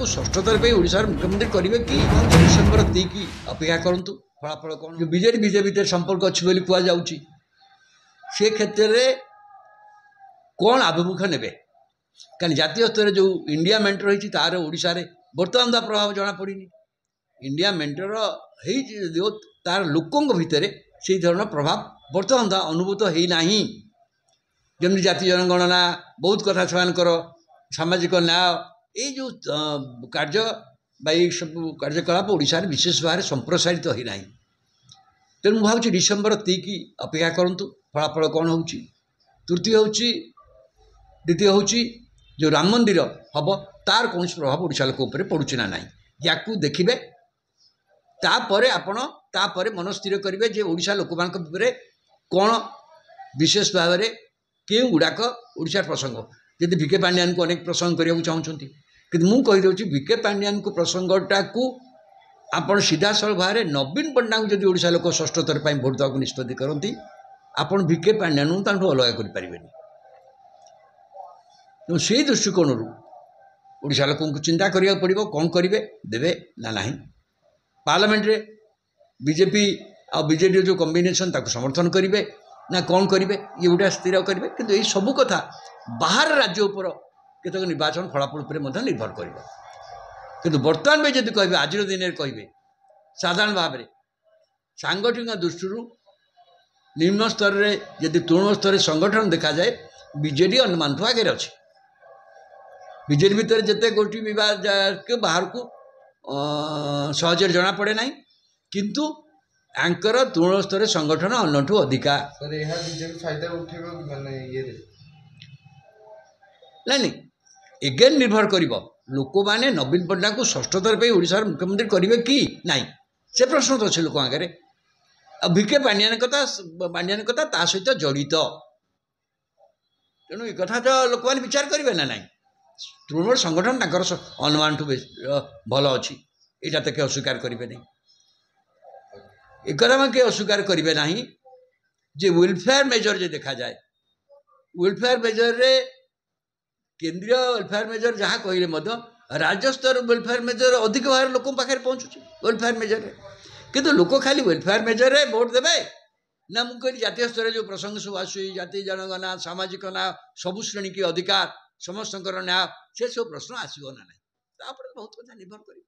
ପଟ୍ଟନାୟକଙ୍କୁ ଷଷ୍ଠ ଥର ପାଇଁ ଓଡ଼ିଶାର ମୁଖ୍ୟମନ୍ତ୍ରୀ କରିବେ କି? ଡିସେମ୍ବର 3 ଅପେକ୍ଷା କରନ୍ତୁ, ଫଳାଫଳ କ'ଣ। ବିଜେଡି ବିଜେପି ଭିତରେ ସମ୍ପର୍କ ଅଛି ବୋଲି କୁହାଯାଉଛି, ସେ କ୍ଷେତ୍ରରେ କ'ଣ ଆଭିମୁଖ୍ୟ ନେବେ? କାରଣ ଜାତୀୟ ସ୍ତରରେ ଯେଉଁ ଇଣ୍ଡିଆ ମେଣ୍ଟ ରହିଛି ତାର ଓଡ଼ିଶାରେ ବର୍ତ୍ତମାନ ତା ପ୍ରଭାବ ଜଣାପଡ଼ିନି। ଇଣ୍ଡିଆ ମେଣ୍ଟର ହେଇଛି ଯଦିଓ, ତାର ଲୋକଙ୍କ ଭିତରେ ସେଇ ଧରଣର ପ୍ରଭାବ ବର୍ତ୍ତମାନ ତା ଅନୁଭୂତ ହେଇନାହିଁ। ଯେମିତି ଜାତି ଜନଗଣନା, ବହୁତ କଥା, ସେମାନଙ୍କର ସାମାଜିକ ନ୍ୟାୟ, ଏଇ ଯେଉଁ କାର୍ଯ୍ୟ ବା ଏଇ ସବୁ କାର୍ଯ୍ୟକଳାପ ଓଡ଼ିଶାରେ ବିଶେଷ ଭାବରେ ସମ୍ପ୍ରସାରିତ ହୋଇନାହିଁ। ତେଣୁ ମୁଁ ଭାବୁଛି ଡିସେମ୍ବର 3 ଅପେକ୍ଷା କରନ୍ତୁ, ଫଳାଫଳ କ'ଣ ହେଉଛି। ତୃତୀୟ ହେଉଛି, ଦ୍ୱିତୀୟ ହେଉଛି ଯେଉଁ ରାମ ମନ୍ଦିର ହେବ ତାର କୌଣସି ପ୍ରଭାବ ଓଡ଼ିଶା ଲୋକ ଉପରେ ପଡ଼ୁଛି ନା ନାହିଁ, ୟାକୁ ଦେଖିବେ। ତାପରେ ଆପଣ ତାପରେ ମନ ସ୍ଥିର କରିବେ ଯେ ଓଡ଼ିଶା ଲୋକମାନଙ୍କ ଉପରେ କ'ଣ ବିଶେଷ ଭାବରେ କେଉଁ ଗୁଡ଼ାକ ଓଡ଼ିଶାର ପ୍ରସଙ୍ଗ। ଯଦି ଭି କେ ପାଣ୍ଡିଆନକୁ ଅନେକ ପ୍ରସଙ୍ଗ କରିବାକୁ ଚାହୁଁଛନ୍ତି, କିନ୍ତୁ ମୁଁ କହିଦେଉଛି ଭି କେ ପାଣ୍ଡିଆନକୁ ପ୍ରସଙ୍ଗଟାକୁ ଆପଣ ସିଧାସଳଖ ଭାବରେ ନବୀନ ପଟ୍ଟନାୟକଙ୍କୁ ଯଦି ଓଡ଼ିଶା ଲୋକ ଷଷ୍ଠ ଥର ପାଇଁ ଭୋଟ ଦେବାକୁ ନିଷ୍ପତ୍ତି କରନ୍ତି, ଆପଣ ଭି କେ ପାଣ୍ଡିଆନଙ୍କୁ ତାଙ୍କଠୁ ଅଲଗା କରିପାରିବେନି। ତେଣୁ ସେଇ ଦୃଷ୍ଟିକୋଣରୁ ଓଡ଼ିଶା ଲୋକଙ୍କୁ ଚିନ୍ତା କରିବାକୁ ପଡ଼ିବ କ'ଣ କରିବେ, ଦେବେ ନା ନାହିଁ। ପାର୍ଲାମେଣ୍ଟରେ ବିଜେପି ଆଉ ବିଜେଡ଼ିର ଯେଉଁ କମ୍ବିନେସନ୍ ତାକୁ ସମର୍ଥନ କରିବେ ନା କ'ଣ କରିବେ, ଇଏ ଗୋଟା ସ୍ଥିର କରିବେ। କିନ୍ତୁ ଏଇ ସବୁ କଥା ବାହାର ରାଜ୍ୟ ଉପର କେତେକ ନିର୍ବାଚନ ଫଳାଫଳ ଉପରେ ମଧ୍ୟ ନିର୍ଭର କରିବ। କିନ୍ତୁ ବର୍ତ୍ତମାନ ବି ଯଦି କହିବେ, ଆଜିର ଦିନରେ କହିବେ, ସାଧାରଣ ଭାବରେ ସାଙ୍ଗଠନିକ ଦୃଷ୍ଟିରୁ ନିମ୍ନ ସ୍ତରରେ ଯଦି ତୃଣମୂଳ ସ୍ତରରେ ସଂଗଠନ ଦେଖାଯାଏ, ବିଜେଡ଼ି ଅନ୍ୟମାନଠୁ ଆଗରେ ଅଛି। ବିଜେଡ଼ି ଭିତରେ ଯେତେ ଗୋଷ୍ଠୀ ବିବାଦ ବାହାରକୁ ସହଜରେ ଜଣାପଡ଼େ ନାହିଁ, କିନ୍ତୁ ଆଙ୍କର ତୃଣମୂଳ ସ୍ତରରେ ସଂଗଠନ ଅନ୍ୟଠୁ ଅଧିକା। ନାଇଁ ନାଇଁ, ଏଗେନ୍ ନିର୍ଭର କରିବ ଲୋକମାନେ ନବୀନ ପଟ୍ଟନାୟକଙ୍କୁ ଷଷ୍ଠ ଥର ପାଇଁ ଓଡ଼ିଶାର ମୁଖ୍ୟମନ୍ତ୍ରୀ କରିବେ କି ନାହିଁ, ସେ ପ୍ରଶ୍ନ ତ ଅଛି ଲୋକଙ୍କ ଆଗରେ। ଆଉ ଭି କେ ପାଣ୍ଡିଆନ କଥା, ପାଣ୍ଡିଆନ କଥା ତା ସହିତ ଜଡ଼ିତ। ତେଣୁ ଏ କଥା ତ ଲୋକମାନେ ବିଚାର କରିବେ ନା ନାହିଁ। ତୃଣମୂଳ ସଂଗଠନ ତାଙ୍କର ଅନୁମାନଠୁ ବେଶୀ ଭଲ ଅଛି, ଏଇଟା ତ କେହି ଅସ୍ୱୀକାର କରିବେ ନାହିଁ। ଏକଥା କେହି ଅସ୍ୱୀକାର କରିବେ ନାହିଁ ଯେ ୱେଲଫେୟାର ମେଜର ଯେ ଦେଖାଯାଏ, ୱେଲଫେୟାର ମେଜରରେ କେନ୍ଦ୍ରୀୟ ୱେଲଫେୟାର ମେଜର ଯାହା କହିଲେ ମଧ୍ୟ ରାଜ୍ୟସ୍ତର ୱେଲଫେୟାର ମେଜର ଅଧିକ ଭାବରେ ଲୋକଙ୍କ ପାଖରେ ପହଞ୍ଚୁଛି ୱେଲଫେୟାର ମେଜରରେ। କିନ୍ତୁ ଲୋକ ଖାଲି ୱେଲଫେୟାର ମେଜରରେ ଭୋଟ ଦେବେ ନା? ମୁଁ କହିଲି ଜାତୀୟ ସ୍ତରରେ ଯେଉଁ ପ୍ରସଙ୍ଗ ସବୁ ଆସୁଛି, ଜାତି ଜନଗଣନା, ସାମାଜିକ ନ୍ୟାୟ, ସବୁ ଶ୍ରେଣୀକି ଅଧିକାର, ସମସ୍ତଙ୍କର ନ୍ୟାୟ, ସେସବୁ ପ୍ରଶ୍ନ ଆସିବ ନା ନାହିଁ, ତାପରେ ବହୁତ କଥା ନିର୍ଭର କରିବ।